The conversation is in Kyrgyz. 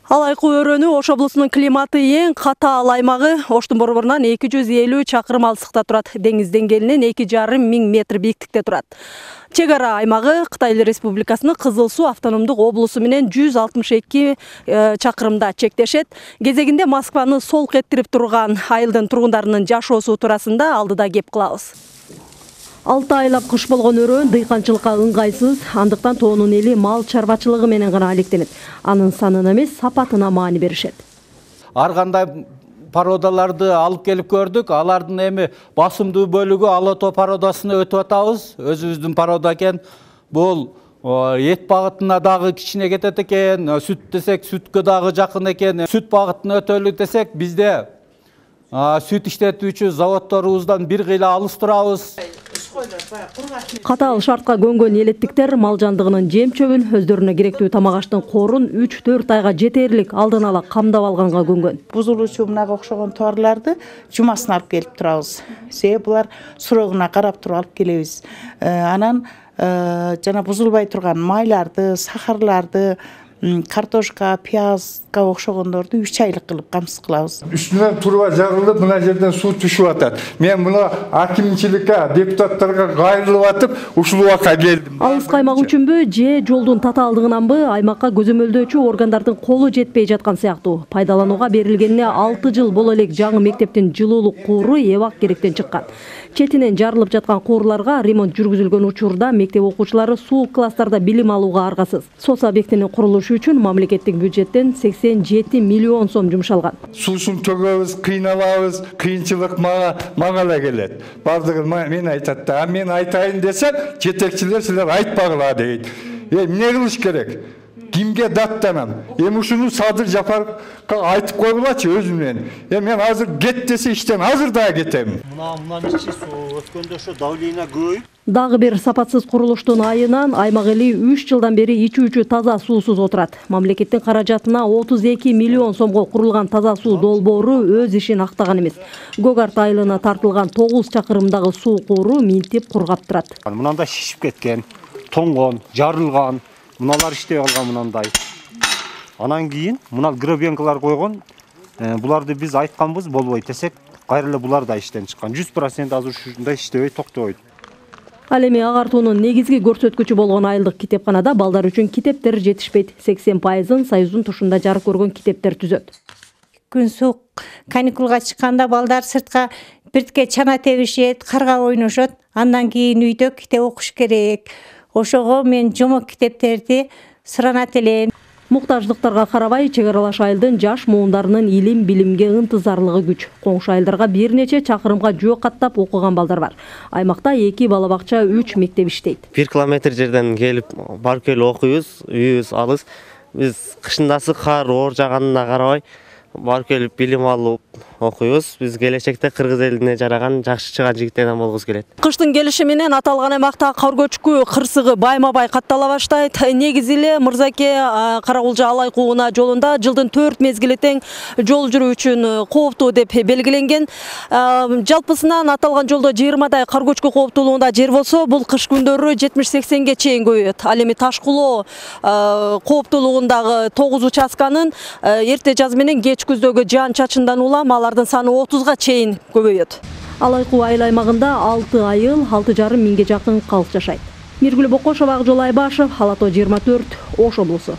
Алайкы өрөөнү Ош облусунун климаты эң катаал аймагы. Оштун борборунан 250 чакырым алыстыкта турат. Деңиз деңгээлинен 2,5 миң метр бийиктикте турат. Чек ара аймагы Кытай Республикасынын Кызыл Суу автономдук облусу менен 162 чакырымда чектешет. Кезегинде Москваны солк эттирип турган айылдын тургундарынын жашоосу туурасында алдыда кеп кылабыз. 6 айлап кыш болгон өрөөн дыйканчылыкка ыңгайсыз, андыктан тоонун эли мал чарбачылыгы менен гана алектенет. Анын санына эмес, сапатына маани беришет. Ар кандай породаларды алып келип көрдүк. Алардын эми басымдуу бөлүгү алото породасына өтүп атабыз. Өзүбүздүн порода экен. Бул эт багытына дагы кичине кетет экен. Сүт десек, сүткө дагы жакын экен. Сүт багытына өтөлү десек, бизде сүт иштетүүчү заводторубуздан бир кыйла алыс турабыз. Катаал шартка көнгөн элеттиктер мал жандыгынын жем чөбүн, өздөрүнө керектүү тамак аштын корун 3-4 айга жетерлик алдын ала камдап алганга көнгөн. Бузулуучу мынага окшогон товарларды жумасын алып келип турабыз. Себеби булар сурогуна карап туруп алып келебиз. Анан жана бузулбай турган майларды, сахарларды, картошка, пиязга окшогондорду 3 айлык кылып камсыз кылабыз. Үстүнөн турба жагылып, мына жерден суу түшүп атат. Мен мына акимчиликке, депутаттарга кайрылып атып, ушул убакка келдим. Алыс аймак үчүнбү же жолдун татаалдыгынанбы аймакка көзөмөлдөөчү органдардын колу жетпей жаткан сыяктуу. Пайдаланууга берилгенине 6 жыл боло элек жаңы мектептин жылуулук кууру эбак керектен чыккан. Четинен жарылып жаткан куурларга ремонт жүргүзүлгөн учурда мектеп окуучулары суу класстарда билим алууга аргасыз. СОС объектинин курулушу үчүн мамлекеттик бюджеттен 87 миллион сом жумшалган. Суусун төгөбүз, кыйналабыз, кыйынчылык мага эле келет. Бардыгын мен айтат да, мен айтайын десем, жетекчилер силер айтпагыла дейт. Эмне кылыш керек? Кимге даттанам? Ушуну Садыр Жапаровго айтып койгулачы өзүмдөн. Мен азыр кет десе иштен азыр да кетем. Мындан ичи суу өткөндө ошо давление көбөйүп. Дагы бир сапатсыз курулуштун айынан аймак эли 3 жылдан бери ичүүчү таза суусуз отурат. Мамлекеттин каражатына 32 миллион сомго курулган таза суу долбоору өз ишин актаган эмес. Гогарт айылына тартылган 9 чакырымдагы суу кууру минтип кургап турат. Мынандай шишип кеткен, тоңгон, жарылган, мыналар иштей калган мынандай. Анан кийин мына гребенкалар койгон. Буларды биз айтканбыз болбойт десек, кайра эле булар да иштен чыккан. 100% азыр ушундай иштебей токтобойт. Ал эми агартуунун негизги көрсөткүчү болгон айылдык китепканада балдар үчүн китептер жетишпейт. 80%-ын Союздун тушунда жарык көргөн китептер түзөт. Күн суук, каникулга чыкканда балдар сыртка биртке чана тебишет, карга ойношот. Андан кийин үйдө китеп окуш керек. Ошого мен жомок китептерди суранат элем. Муктаждыктарга карабай, чек аралаш айылдын жаш муундарынын илим, билимге ынтызарлыгы күч. Коңшу айылдарга бир нече чакырымга жөө каттап окуган балдар бар. Аймакта 2 бала бакча, 3 мектеп иштейт. 1 километр жерден келип, барып келип окуйбуз, үйүбүз алыс. Биз кышындасы кар оор жаганына карабай, барып келип билим алып окуйбуз. Биз келечекте кыргыз элине жараган жакшы чыган жигиттерден болгубуз келет. Кыштын келиши менен аталган аймакта кар көчкү кырсыгы байма-бай каттала баштайт. Негизи эле Мырзаке Каракулжа Алайкы ууна жолунда жылдын 4 мезгили тең жол жүрүү үчүн кооптуу деп белгиленген. Жалпысынан аталган жолдо 20дай кар көчкү кооптуулугунда жер болсо, бул кыш күндөрү 70-80ге чейин көбөйөт. Ал эми Ташкулоо кооптуулугундагы 9 участканын эрте жаз менен кеч күздөгү жаан чачындан улам алардын саны 30га чейин көбөйөт. Алайкы айыл аймагында 6 айыл, 6,5 миңге жакын калк жашайт. Миргүл Бокошова, Ак Жол Айбашев, Алато 24, Ош облусу.